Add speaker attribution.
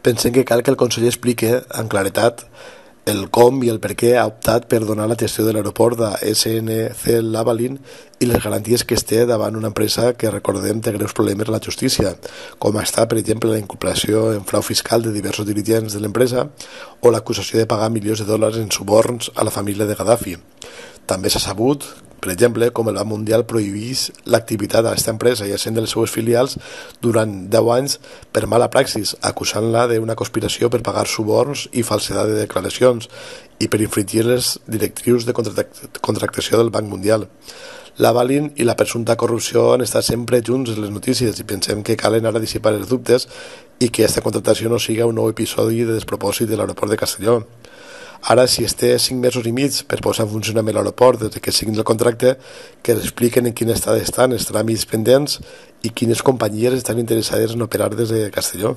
Speaker 1: Pensem que cal que el conseller expliqui amb claretat el com i el per què ha optat per donar la gestió de l'aeroport de SNC Lavalin i les garanties que es té davant una empresa que, recordem, té greus problemes a la justícia, com està, per exemple, la inculpació en frau fiscal de diversos dirigents de l'empresa o l'acusació de pagar milions de dòlars en suborns a la família de Gaddafi. També s'ha sabut, per exemple, com el Banc Mundial prohibís l'activitat d'aquesta empresa i essent de les seues filials durant 10 anys per mala praxis, acusant-la d'una conspiració per pagar suborns i falsedat de declaracions i per infringir les directrius de contractació del Banc Mundial. Lavalin i la presumpta corrupció han estat sempre junts en les notícies i pensem que calen ara dissipar els dubtes i que aquesta contractació no siga un nou episodi de despropòsit de l'aeroport de Castelló. Ara, si es té 5 mesos i mig per posar en funcionament l'aeroport des que siguin el contracte, que expliquen en quin estat estan els tràmits pendents i quines companyies estan interessades en operar des de Castelló.